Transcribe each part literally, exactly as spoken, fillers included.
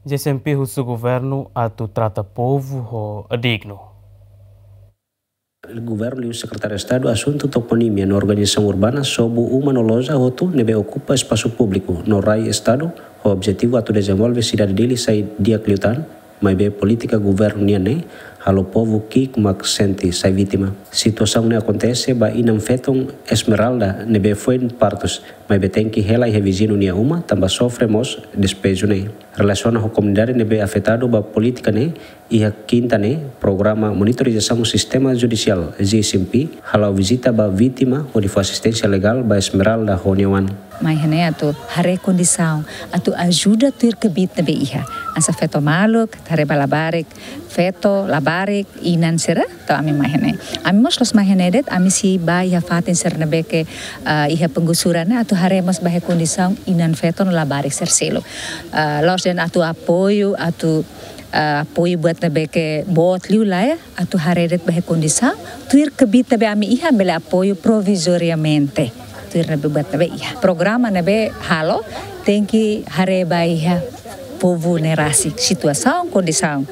G S M P husu governu atu trata povu ho dignu. Governu liu Sekretáriu Estadu Asuntu Toponímia no Organizasaun Urbana sobu uma no loja hotu ne'ebé okupa espasu públiku no rai Estadu, ho objetivu atu dezenvolve sidade Dili sai di'ak liután, maibé polítika governu nian ne'e halo povu ki'ik mak sente sai vítima. Situasaun ne'e akontese ba inan-feton Esmeralda ne'ebé foin partus, maibé tenke hela iha viziñu nia uma tanba sofre mós despeju ne'e. Relasiona ho komunidade ne'ebé afetadu ba polítika ne'e, iha kinta ne'e, programa monitorizasaun sistema judisiál, G S M P, hala'o vizita ba vítima hodi fó asisténsia legál ba Esmeralda ho nia oan. Mai iha ne'e atu haree kondisaun, atu ajuda tuir kbiit ne'ebé iha. Hanesan feto maluk, haree ba labarik, feto, labarik, inan sira, entaun ami mai iha ne'e. Ami mós la'ós mai iha ne'e de'it, ami sei ba iha fatin sira ne'ebé ke, ah, iha penggusuran ne'e, atu haree mós ba iha kondisaun inan-feton no labarik sira seluk. Ah, la'ós dehan atu apoiu, atu, ah, apoiu buat ne'ebé ke boot liu lae, atu haree de'it ba iha kondisaun, tuir kbiit ne'ebé ami iha bele apoiu provizoriamente. Tuir ne'ebé buat ne'ebé iha. Programa ne'ebé halo, tenke haree ba iha povu ne'e rasik, situasaun, kondisaun.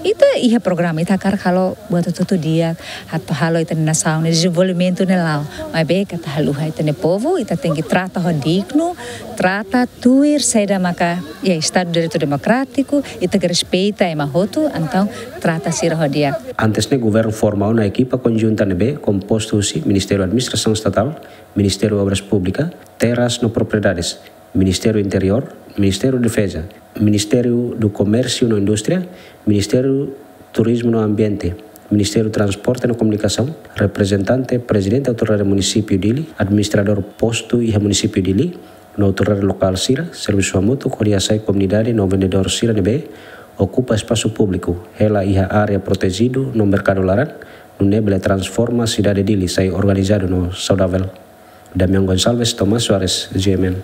Ita iha programa, ita hakarak halo buat hotu-hotu di'ak, atu halo ita-nia nasaun ne'e dezenvolvimentu ne'e la'o. Maibé ita haluha ita-nia povu, ita tenke trata ho dignu, trata tuir saida maka, ya, Estadu Direitu Demokrátiku, ita ke respeita ema hotu, entaun trata sira ho di'ak. Antes ne'e governu forma ona ekipa konjunta ne'ebé kompostu husi Ministériu Administrasaun Estatál, Ministériu Obras Públikas, Terras no Propriedades, Ministériu Interiór, Ministériu Defeza, Ministériu do Komérsiu no Indústria, Ministériu Turizmu no Ambiente, Ministériu Transporte no Komunikasaun, reprezentante Prezidente Autoridade Munisípiu Dili, administradór postu iha Munisípiu Dili, no autoridade lokál sira, servisu hamutuk hodi hasai komunidade no vendedór sira ne'ebé okupa espasu públiku, hela iha área protejidu no merkadu laran, nune'e bele transforma sidade Dili sai organizadu no saudavel. Damian Gonçalves, Tomás Soares, G M N.